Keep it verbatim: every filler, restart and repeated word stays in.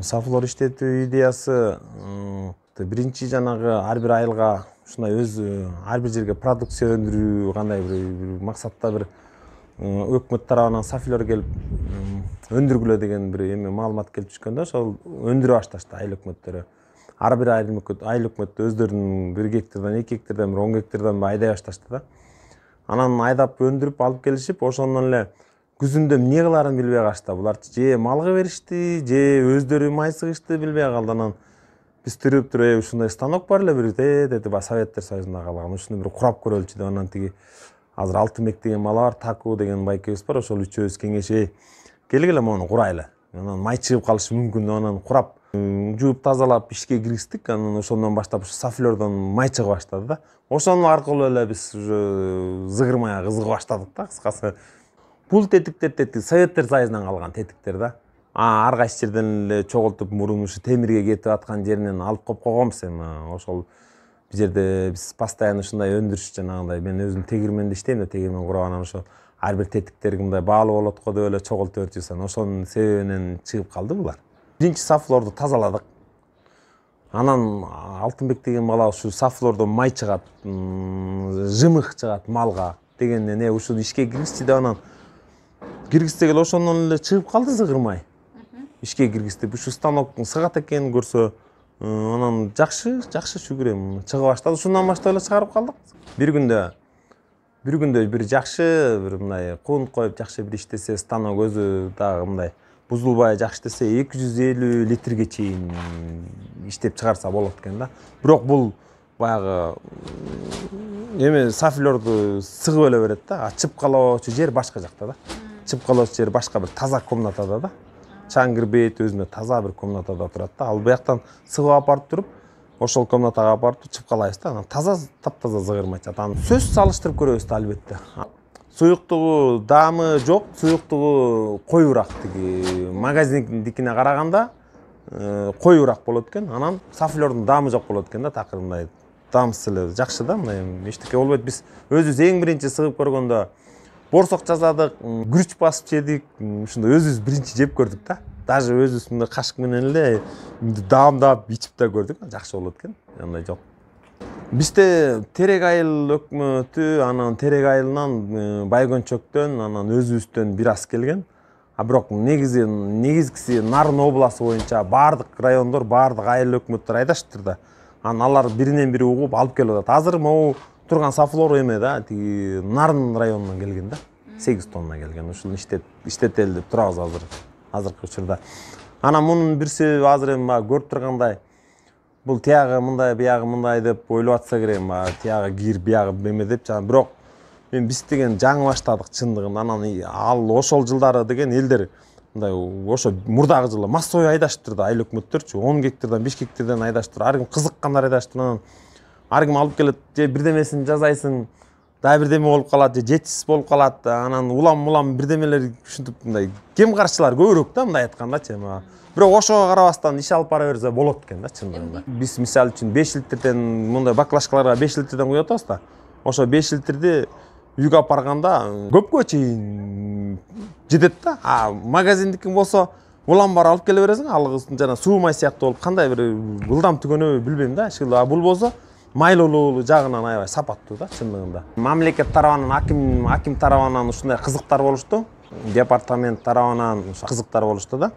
Сафлор иштетүү идеясы биринчи жанагы ар бир айылга ушундай өз ар бир жерге продукция өндүрүү кандай бир максатта бир өкмөт тарабынан сафлор келип өндүргүлө деген бир эме маалымат келип түшкөндө ошол өндүрө башташты айыл өкмөттөрү. Ар бир айыл өкмөт өздөрүнүн бир гектардан эки гектардан бир он гектардан айдай башташты да. Анан айдап өндүрүп алып келишип, ошондон эле күзүндө эмне кыларын билбей калышты. Булар же малга беришти, же өздөрү май сыгышты билбей калды. Анан биз тирүүп туруп, ушундай станок бар эле бир деди, ба Советтер Союзунда калган. Ушуну бир курап көрөлүчү деп анан тиги азыр Алтынбек деген бала бар, Таку деген байкебиз бар, ошол үчөөбүз кеңешип келгиле мону курайлы. Анан май чыгып калышы мүмкүн деп анан курап, жууп тазалап ишке киргиздик. Анан ошондон баштап ушу сафлордон май чыга баштады да. Ошонун аркылуу эле биз уже зыгыр майга кызыга баштадык да, кыскасы. Бул тетиктер тетик Советтер Союзунан калган тетиктер да. А ар кайсы жерден эле чогултуп мурун ушу темирге кетип аткан жеринен алып коюп койгонбуз эми. Ошол бул жерде биз постоянно ушундай өндүрүш жанагындай, мен өзүм тегирменде иштейм да, тегирмен курап анан ошо ар бир тетиктерге мындай баалуу болот го деп эле чогултуп өтүбүз. Ошонун себебинен чыгып калды булар. Биринчи сафлорду тазаладык. Анан Алтынбек деген бала ушу сафлордон май чыгат, жымык чыгат малга дегенден э ушуну ишке киргизчи деп анан киргизсек эле ошондон эле чыгып калды зыгыр май. Ишке киргиздик. Ушу станоктун сыгат экенин көрсө, анан жакшы, жакшы шүгүр эми чыга баштады. Ушундан баштап эле чыгарып калдык. Бир күндө бир күндө бир жакшы бир мындай кун коюп жакшы бир иштесе, станок өзү дагы мындай бузулбай жакшы иштесе эки жүз элүү литрге чейин иштеп чыгарса болот экен да. Бирок бул баягы эме сафлорду сыгып эле берет да. Чыпкалоочу жер башка жакта да. Чыпкалоочу жер башка бир таза комнатада да. Чаң кирбейт, өзүнө таза бир комнатада турат да. Ал бияктан сыгып апарып туруп, ошол комнатага апарып чыпкалайбыз да. Анан таза таптаза зыгыр май чыгат. Анан сөз салыштырып көрөбүз да албетте. Суюктугу даамы жок, суюктугу коюураак тиги магазиндикине караганда коюураак болот экен. Анан сафлордун даамы жок болот экен да, такыр мындай даамсыз эле жакшы да, мындай эчтеке болбойт. Биз өзүбүз эң биринчи сыгып көргөндө борсок жасадык, күрүч басып жедик, ушундай өзүбүз биринчи жеп көрдүк да. Даже өзүбүз мындай кашык менен эле даамдап ичип да көрдүк, жакшы болот экен. Андай жок. Бизде Терек айыл өкмөтү, анан Терек айылынан Байгөнчөктөн, анан өзүбүздөн бир аз келген. А бирок негизи негизгиси Нарын областы боюнча баардык райондор, баардык айыл өкмөттөр айдаштыр да. Анан алар биринен бири угуп алып келип атат. Азыр могу турган сафлор эме да, тиги Нарын районунан келген да. сегиз тонна келген. Ушуну иштет иштетели деп турабыз азыр. Азыркы учурда. Анан мунун бир себеби азыр эми көрүп тургандай, бул тиягы мындай, биягы мындай деп ойлоп атса керек, тиягы кир, биягы эме деп жана бирок мен биз деген жаңы баштадык чындыгында. Анан ал ошол жылдары деген элдер мындай ошо мурдагы жылы массовый айдаштыр да, айыл өкмөттөрчү он гектардан беш гектардан айдаштыр. Ар ким кызыккандар айдаштыр. Анан ар ким алып келет, же бирдемесин жасайсың, дагы бирдеме болуп калат, же жетишсиз болуп калат. Анан улам-улам бирдемелер ушинтип мындай кем каршылар көбүрөөк да, мындай айткандачы. Бирок ошого карабастан иш алып бара берсе болот экен да, чындыгында. Биз мисалы үчүн беш литрден мындай баклажкаларга беш литрден куюп атабыз да. Ошо беш литрди үйгө апарганда көпкө чейин жетет да. А магазиндикин болсо улам бар алып келе бересиң, ал жана суу май сыяктуу болуп кандай бир ылдам түгөнөбү билбейм да. А бул болсо майлуулуу жагынан аябай сапаттуу да, чындыгында. Мамлекет тарабынан, аким аким тарабынан ушундай кызыктар болушту. Департамент тарабынан кызыктар болушту да.